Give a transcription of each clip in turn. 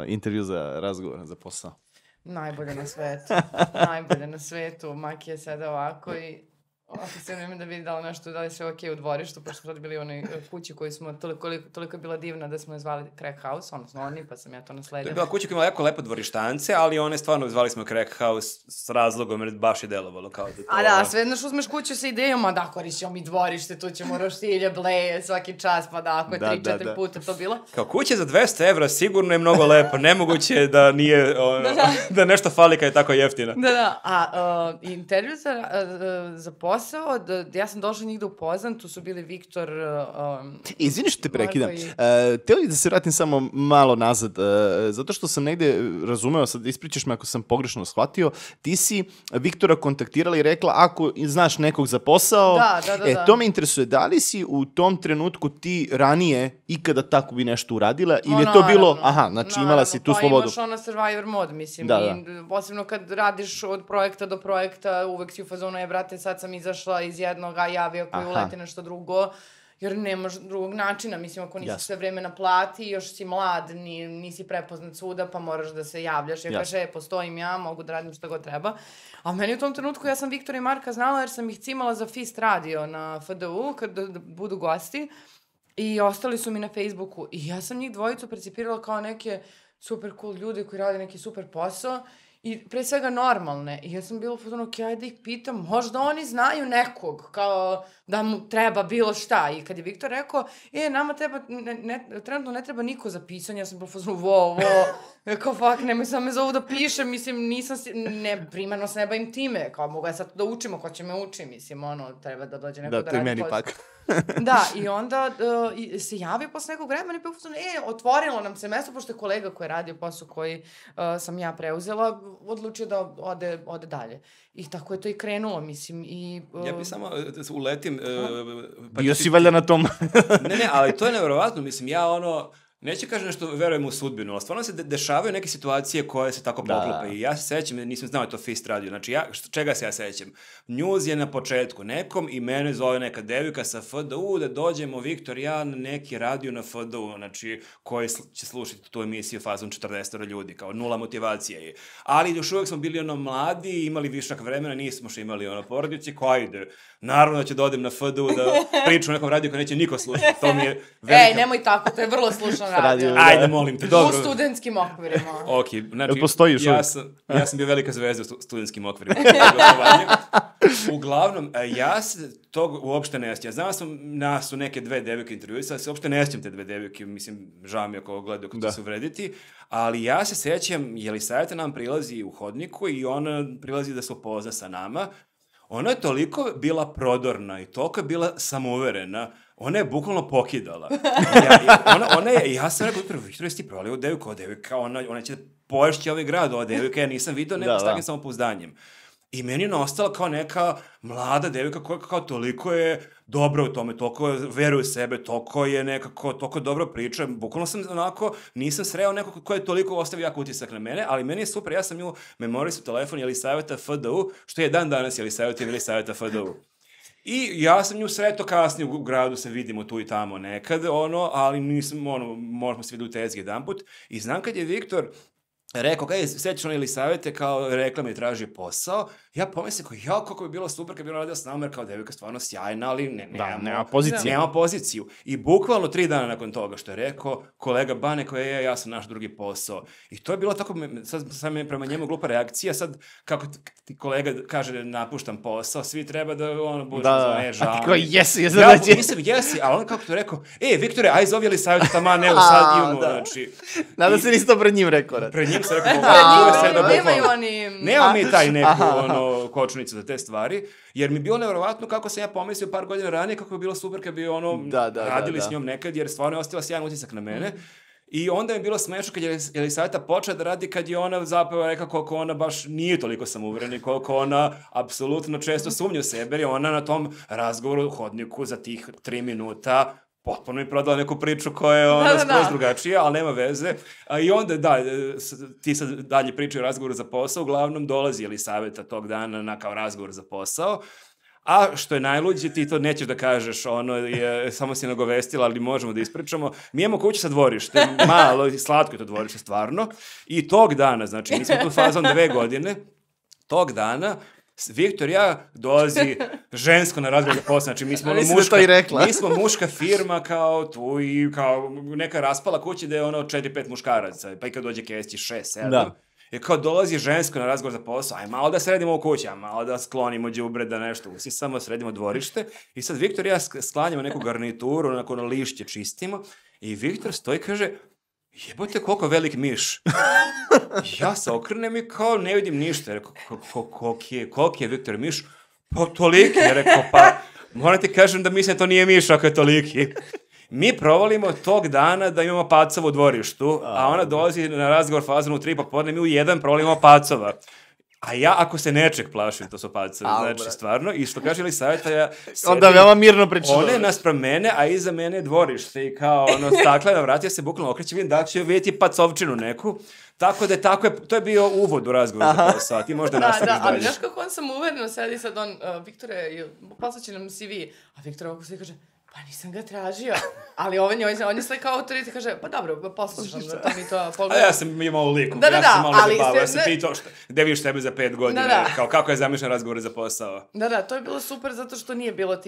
intervju za razgovor, za posao? Najbolje na svetu. Najbolje na svetu. Maki je sada ovako i ovako se nema da vidi da li nešto, da li sve okej u dvorištu, pošto smo sad bili u onoj kući koju smo, toliko je bila divna da smo je zvali Crack House, odnosno oni, pa sam ja to nasledila. To je bila kuća koja ima jako lepo dvorištance, ali one stvarno zvali smo Crack House s razlogom, jer baš je delovalo kao da to... A da, sve jedno što uzmeš kuću sa idejom, a da, korisimo mi dvorište, tu ćemo roštilje, bleje, svaki čas, pa da, ako je 3-4 puta to bilo. Kao kuća za 200 evra sigurno je mnogo lepo, nemoguće je da nije, da nešto fali kad je tako jeftina. Da, a intervju za posao, ja sam došla njih da upoznam, tu su bili Viktor... Izvini što te prekidam. Htio li da se vratim samo malo nazad, zato što sam negde razumeo, sad ispričaš me ako sam pogrešno shvatio, ti si Viktora kontaktirala i rekla ako znaš nekog za posao, da. To me interesuje, da li si u tom trenutku ti ranije ikada tako bi nešto uradila ili je to bilo, znači imala si tu slobodu? Pa imaš ona survivor mod, mislim, i posebno kad radiš od projekta do projekta, uvek si u fazonu, brate, sad sam izašla iz jednog, a javio koji uleti nešto drugo, jer nemaš drugog načina, mislim, ako nisi sve vreme na plati, još si mlad, nisi prepoznat svuda, pa moraš da se javljaš, ja kaže, postojim ja, mogu da radim što god treba. A meni u tom trenutku, ja sam Viktora i Marka znala jer sam ih cimala za Fist radio na FDU, kad budu gosti, i ostali su mi na Facebooku, i ja sam njih dvojicu percipirala kao neke super cool ljude koji rade neki super posao, i pre svega normalne. I ja sam bila u fazonu, ok, ajde da ih pitam, možda oni znaju nekog, kao da mu treba bilo šta. I kad je Viktor rekao, nama treba, trenutno ne treba niko za pisanje, ja sam bila u fazonu, kao fuck, nemoj sam me zovu da pišem, mislim, primarno se ne bavim time, kao mogu ja sad da učimo, ko će me uči, mislim, treba da dođe neko da radi. Da, to je meni pak. Da, i onda se javio posle nekog vremena i bio fazonu, otvorilo nam se mesto, pošto je kolega koji je radio posao koji sam ja preuzela, odlučio da ode dalje. I tako je to i krenulo, mislim, i... Ja bih samo uletim... Bio si valjda na tom... Ne, ali to je nevjerovatno, mislim, ja neću kažem nešto verujem u sudbinu, ali stvarno se dešavaju neke situacije koje se tako poklope. I ja se sećam, nisam znao to Fist radio, znači čega se ja sećam? News je na početku nekom i mene zove neka devika sa FDU da dođemo, Viktor, ja na neki radio na FDU, znači koji će slušati tu emisiju fazom 40 ljudi, kao nula motivacije. Ali još uvek smo bili mladi, imali višak vremena, nismo što imali porodice, ko ide? Naravno da ću da odem na FDU da pričam o nekom radiju koji neće niko slušati, to mi je velika... nemoj tako, to je vrlo slušan radio. Ajde, molim te, dobro. U studentskim okvirima. Ok, znači, ja sam bio velika zvezda u studentskim okvirima. Uglavnom, ja se tog uopšte ne sjećam. Znao sam, nas su neke dve devike intervjuisali, se uopšte ne sjećam te dve devike, mislim, žao mi ako gledaju kako će se uvrediti, ali ja se sjećam, Jelisaveta nam prilazi u hodniku i ona prilazi da se upozna sa nama. Ona je toliko bila prodorna i toliko je bila samouverena, ona je bukvalno pokidala. Ja sam rekao, Viktor, jesi ti provali ovu devojku, ona će poješći ovaj grad, ova devojka, ja nisam vidio neko s takvim samopouzdanjem. I meni je ostala kao neka mlada devojka koja kao toliko je dobra u tome, toliko veruje u sebe, toliko je nekako, toliko dobro priča. Bukvalno sam nisam sreo nekog ko je toliko ostavio jak utisak na mene, ali meni je super, ja sam nju memorisao telefon Jelisaveta FDU, što je dan danas Jelisaveta FDU. I ja sam nju sretao kasnije u gradu, se vidimo tu i tamo nekad, ali nisam, možemo se vidjeti u tezgi jedan put. I znam kad je Viktor rekao, sećaš ona Jelisavete, kao rekla mi traži posao, ja pomislim kako bi bilo super kad bi ona radila s nama, jer kao devojka stvarno sjajna, ali nema poziciju. I bukvalno 3 dana nakon toga što je rekao, kolega Bane koji ja sam naš drugi posao. I to je bilo tako, sad mi je prema njemu glupa reakcija, sad kako ti kolega kaže napuštam posao, svi treba da budu žalni. A ti kao jesi, jesi, ali on kako to rekao, Viktore, aj zovi Jelisavete tamo, ne, sad imamo, znači. Nadam se nisi to pred njim rekao. Pred njim se rekao, nema mi taj neku kočnicu za te stvari, jer mi je bilo nevjerovatno kako sam ja pomislio par godina ranije, kako je bilo super kad bi radili s njom nekad, jer stvarno je ostavila sjajan utisak na mene. I onda je bilo smešno kad je Jelisaveta počela da radi, kad je ona zapravo rekla koliko ona baš nije toliko samouverena i koliko ona apsolutno često sumnja u sebe, jer je ona na tom razgovoru u hodniku za tih 3 minuta potpuno mi prodala neku priču koja je skroz drugačija, ali nema veze. I onda, ti sad dalje pričaju o razgovoru za posao, uglavnom dolazi Jelisaveta tog dana na kao razgovor za posao, A što je najluđe, ti to nećeš da kažeš, samo si nagovestila, ali možemo da ispričamo. Mi imamo kuću sa dvorištem, malo, slatko je to dvorište, stvarno. I tog dana, znači, mi smo tu fazom 2 godine, tog dana, Viktor i ja dolazi žensko na razgovor za posao, znači mi smo muška firma kao tu i kao neka raspala kuća gde je 4-5 muškaraca, pa i kad dođe Kesić 6-7. Da. I kao dolazi žensko na razgovor za posao, aj malo da sredimo u kući, malo da sklonimo đubre, da nešto, svi samo sredimo dvorište. I sad Viktor i ja sklanjamo neku garnituru, onako lišće čistimo i Viktor stoji i kaže, jebote koliko velik miš. Ja se okrenem i kao ne vidim ništa. Rekao, koliki je Viktor miš? Pa toliki. Ja rekao, pa moram ti kažem da mislim da to nije miš ako je toliki. Mi provalimo tog dana da imamo pacova u dvorištu, a ona dolazi na razgovor fazonu 3 popodne, mi u 1 provalimo pacova. A ja, ako se nečeg plašim, to su pacovi, znači, stvarno. I što kaže Elisaveta, ja sedim... Onda veoma mirno pričam. One naspram mene, a iza mene je dvorište i kao, staklena vrata, ja se bukvalno okrećem, vidim da će vidjeti pacovčinu neku. Tako da je to je bio uvod u razgovor za posao, ti možda nastaviš dalje. Ali znaš kako on sam uvereno sedi sad Viktore, poslaće nam CV, a Viktor ovako sve kaže, pa nisam ga tražio, ali on je sve kao autoritet, kaže, pa dobro, poslušam da to mi to pogledam. A ja sam imao liku, ja sam malo zabavao, ja sam pitao gde vidiš tebe za 5 godina, kao kako je zamišljen razgovor za posao. Da, to je bilo super zato što nije bilo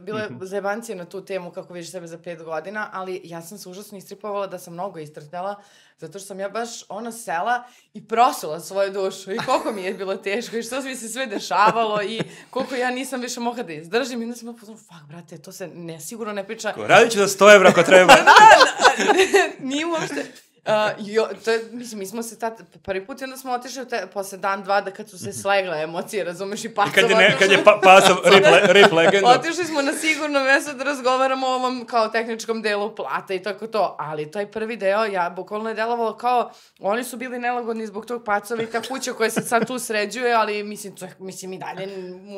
bilo je zajebancije na tu temu kako vidiš sebe za 5 godina, ali ja sam se užasno istripovala da sam mnogo istrpela, zato što sam ja baš sela i prosula svoju dušu i koliko mi je bilo teško i što mi se sve dešavalo i koliko ja nisam više mogla da izdržim i onda sam pozvala, brate, to se sigurno ne priča. Radit ću za 100 evra ako treba. Nije uopšte. Mi smo se prvi put i onda smo otišli posle dan, 2 da kad su se slegle emocije, razumeš, i pacova. I kad je pacov rip legenda. Otišli smo na sigurno mesto da razgovaramo o ovom kao tehničkom delu plata i tako to, ali taj prvi deo, ja bukvalno je delovalo kao, oni su bili nelagodni zbog tog pacova i ta kuća koja se sad tu sređuje, ali mislim i dalje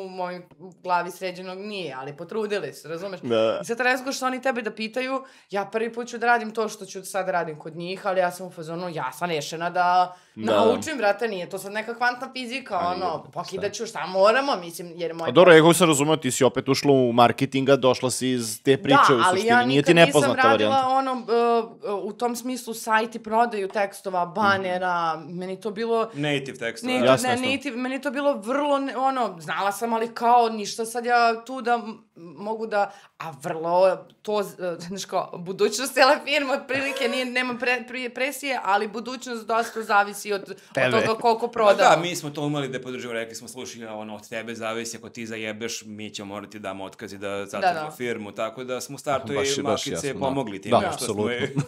u mojoj glavi sređenog nije, ali potrudili se, razumeš. I sad razgovor što oni tebe da pitaju, ja prvi put ću da radim to što ću sad radim kod njih, ali ja sam u fazonu, ja sam rešena da naučim, brate, nije to sad neka kvantna fizika, pokidaću šta moramo, mislim, jer moj... Dobro, ja sam razumeo, ti si opet ušla u marketinga, došla si iz te priče u suštini, nije ti nepoznata varijanta. Da, ali ja nikad nisam radila u tom smislu sajt i prodaju tekstova, banera, meni to bilo... Native tekstova. Meni to bilo vrlo, znala sam, ali kao ništa sad ja tu da mogu da... A vrlo to, znaš kao, budućnost cijela firma, otprilike nema presije, ali budućnost dosta zavisi od toga koliko prodamo. Da, mi smo to umeli da podržimo, rekli smo, slušaj, od tebe zavisi, ako ti zajebeš, mi ćemo morati damo otkaz i da zatvorimo firmu, tako da smo u startu i Makice pomogli time, što smo rekli,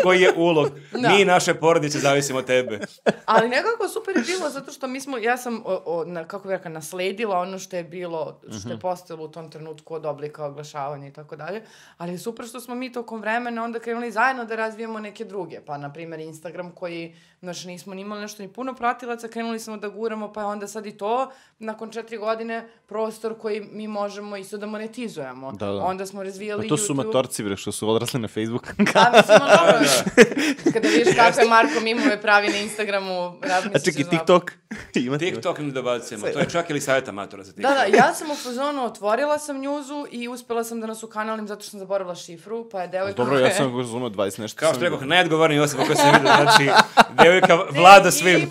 koji je ulog. Mi i naše porodice zavisimo od tebe. Ali nekako super je bilo, zato što ja sam, kako bih rekla, nasledila ono što je bilo, što je postalo u tom trenutku od oblika oglašavanja i tako dalje, ali je super što smo mi tokom vremena onda krenuli zajedno da razvijemo neke druge, pa na primjer Instagram koji, znači nismo ni imali nešto ni puno pratilaca, krenuli smo da guramo, pa onda sad i to, nakon 4 godine, prostor koji mi možemo isto da monetizujemo. Onda smo razvijali YouTube. To su matorci, što su odrasli na Facebook. Da, mislim, kada vidiš kako je Marko Mimove pravi na Instagramu, razmisliš. A čekaj, TikTok? TikTok ne dobacujemo, to je čak ili savjeta matora za TikTok. Da, ja sam u fazonu, otvorila sam njuzu i uspela sam da nas ukanalim zato što sam zaboravila šifru, pa je devojka... Dobro, ja sam razumio 20 nešto. Kao što rekao, najodgovorniji osoba koja se vidio, znači, devojka vlada svim.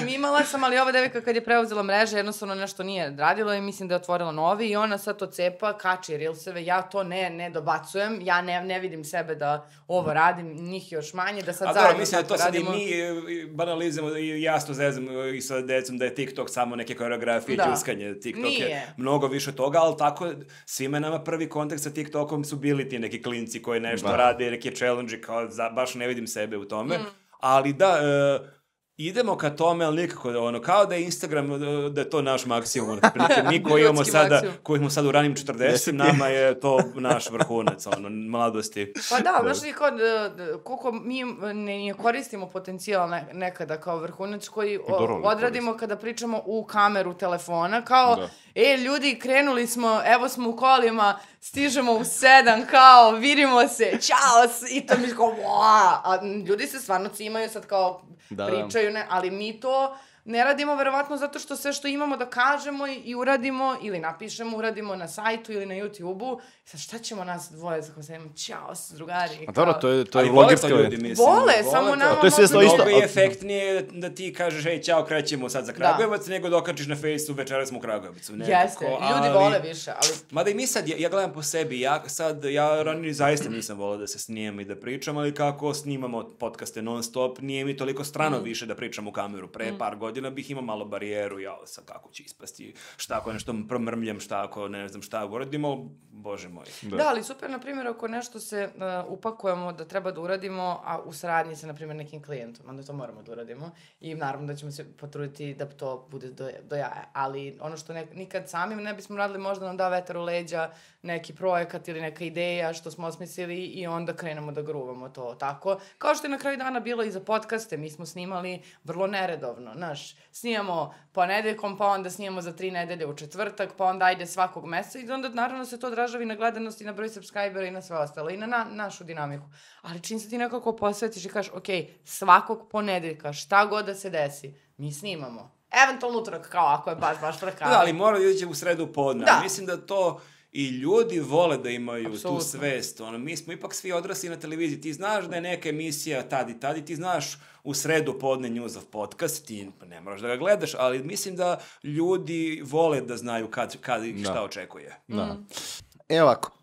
Imala sam, ali ova devojka kad je preuzela mreže, jednostavno nešto nije radila i mislim da je otvorila novi i ona sad to cepa, kači reelseve, ja to ne dobacujem, ja ne vidim sebe da ovo radim, njih još manje, da sad zajedno mislim da to sad i mi banalizujemo i jasno zezamo i sa decom da je TikTok samo neke koreografije, džuskanje, TikTok je mnogo više toga, ali tako svima nama prvi kontakt sa TikTokom su bili ti neki klinci koji nešto rade, neke challenge, kao baš ne vidim sebe u tome, ali da... Idemo ka tome, ali nikako kao da je Instagram, da je to naš maksimum. Mi koji smo sad u ranim 40, nama je to naš vrhunac, mladosti. Pa da, znaš li, koliko mi ne koristimo potencijal nekada kao vrhunac koji odradimo kada pričamo u kameru telefona, kao, ljudi, krenuli smo, evo smo u kolima, stižemo u 7, kao, vidimo se, čao, i to mi kao, a ljudi se stvarno cimaju sad kao pričaju, ali mi to ne radimo verovatno zato što sve što imamo da kažemo i uradimo, ili napišemo, uradimo na sajtu ili na YouTube-u. Sad šta ćemo nas dvoje za kojima ćao s drugari? A dobro, to je logička ljudi, mislim. Vole, samo nama Mnogo je efektnije da ti kažeš, hej, ćao, krećemo sad za Kragujevac, nego da okačiš na Facebooku večeras smo u Kragujevcu. Jeste, ljudi vole više, ali... Mada i mi sad, ja gledam po sebi, ja ranije zaista nisam volao da se snijem i da pričam, ali kako snimamo podcaste non stop, nije mi toliko strano više da pričam u kameru. Pre par godina bih imao malo barijeru, sad kako će ispasti, šta ako nešto promrmljam, šta ako ne znam šta uradimo, bože moj. Da, ali super, na primjer, ako nešto se upakujemo da treba da uradimo, a u saradnji sa, na primjer, nekim klijentom, onda to moramo da uradimo i naravno da ćemo se potruditi da to bude do jaja, ali ono što nikad sami ne bismo radili, možda nam da vetar u leđa, neki projekat ili neka ideja što smo osmislili i onda krenemo da gruvamo to tako. Kao što je na kraju dana bilo i za podcaste, mi smo snimali vrlo neredovno, znaš, snimamo ponedeljkom, pa onda snimamo za 3 nedelje u četvrtak, pa onda ajde svakog meseca i onda naravno se to odražava i na gledanost i na broj subscribera i na sve ostalo i na našu dinamiku. Ali čim se ti nekako posvetiš i kažeš, ok, svakog ponedeljka, šta god da se desi, mi snimamo. Eventualno utorak, kao ako je baš prakavno. Da, ali mora da ići u sredu podne. Da. Mislim da to i ljudi vole da imaju tu svest. Mi smo ipak svi odrasli na televiziji. Ti znaš da je neka emisija tad i tad i ti znaš u sredu podne Newsov podcast, ti ne moraš da ga gledaš, ali mislim da ljudi vole da znaju kad ih šta očekuje. Da. Evo ovako.